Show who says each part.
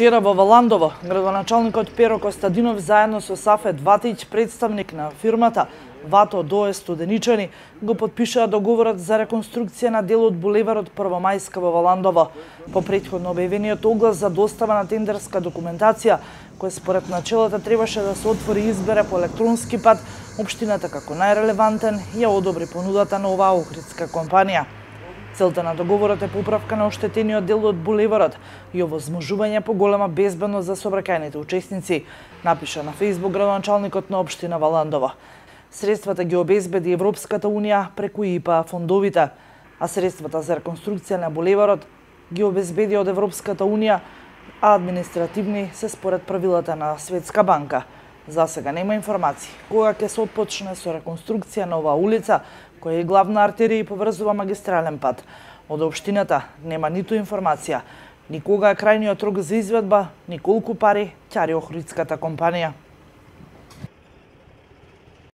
Speaker 1: Вчера во Валандово, градоначалникот Перо Костадинов заедно со Сафет Ватиќ, представник на фирмата Вато Дое Студеничани, го подпишаа договорот за реконструкција на дел од булеварот Првомајска во Валандово. По претходно објавениот оглас за достава на тендерска документација, која според началото требаше да се отвори и избере по електронски пат, општината како најрелевантен ја одобри понудата на оваа охридска компанија. Целта на договорот е поправка на оштетениот дел од булеварот и овозможување поголема безбедност за сообраќајните учесници, напиша на Фејсбук градоначалникот на општина Валандово. Средствата ги обезбеди Европската унија преку ИПА фондовите, а средствата за реконструкција на булеварот ги обезбеди од Европската унија, а административни се според правилата на Светска банка. За сега нема информации кога ќе се отпочне со реконструкција на оваа улица, која е главна артерија и поврзува магистрален пат. Од општината нема ниту информација, ни кога е крајниот рок за изведба, ни колку пари ќари охридската компанија.